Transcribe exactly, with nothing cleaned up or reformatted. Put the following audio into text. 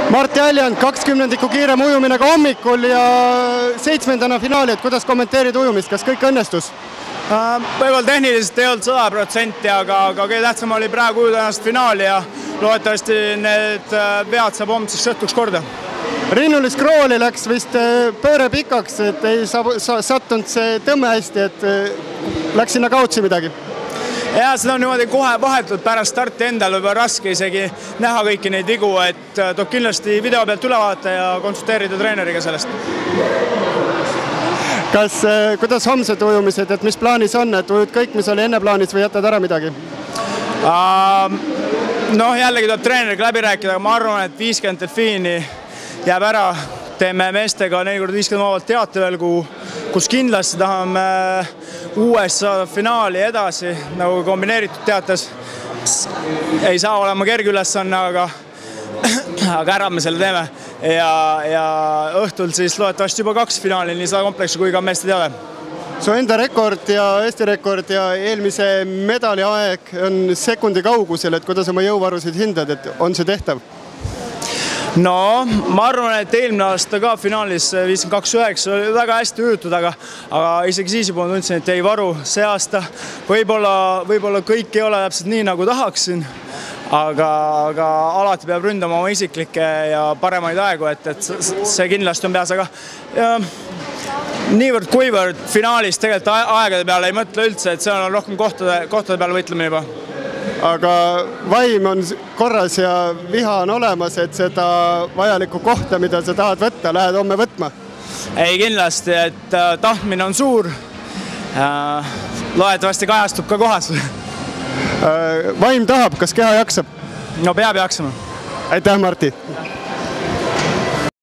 Martti Aljand, kakskümnendiku kiirem ujumine ka hommikul ja seitsmendana finaali, et kuidas kommenteerid ujumist, kas kõik õnnestus? Võib-olla tehniliselt ei olnud sada protsenti, aga kõige tähtsam oli praegu ujuda ennast finaali ja loodetavasti need vead saab homseks õhtuks korda. Rinnulis Krooli läks vist pööre pikaks, et ei sattunud see tõmme hästi, et läks sinna kaotsi midagi. Ja seda on niimoodi kohe vahetult pärast starti endal võib raske isegi näha kõiki neid vigu, et tuleb kindlasti video pealt üle vaadata ja konsulteerida treeneriga sellest. Kas, kuidas homsed ujumised, et mis plaanis on, et ujud kõik, mis oli enne plaanis või jätad ära midagi? Noh, jällegi tuleb treeneriga läbi rääkida, aga ma arvan, et viiskümmend delfiini jääb ära. Teeme meestega neli korda viiskümmend vabalt teate veel, kus kindlasti tahame uues saada finaali edasi, nagu kombineeritud teates. Ei saa olema kerge ülesanne, aga, aga ära me selle teeme. Ja, ja õhtul siis loodetavasti juba kaks finaali, nii sada kompleksi kui ka meeste teade. Su enda rekord ja Eesti rekord ja eelmise medali aeg on sekundi kaugusel, et kuidas oma jõuvarusid hindad, et on see tehtav? No, ma arvan, et eelmine aasta ka finaalis viiskümmend kaks üheksa oli väga hästi ujutud, aga, aga isegi siis juba tundsin, et ei varu see aasta. Võib-olla, võib-olla kõik ei ole täpselt nii, nagu tahaksin, aga, aga alati peab ründama oma isiklikke ja paremaid aegu, et, et see kindlasti on peas, aga ja, niivõrd kuivõrd finaalis tegelikult aegade peale ei mõtle üldse, et see on rohkem kohtade, kohtade peale võitlemine juba. Aga vaim on korras ja viha on olemas, et seda vajalikku kohta, mida sa tahad võtta, lähed homme võtma? Ei kindlasti, et tahtmine on suur. Loodetavasti kajastub ka kohas. Vaim tahab, kas keha jaksab? No peab jaksama. Aitäh, Martti!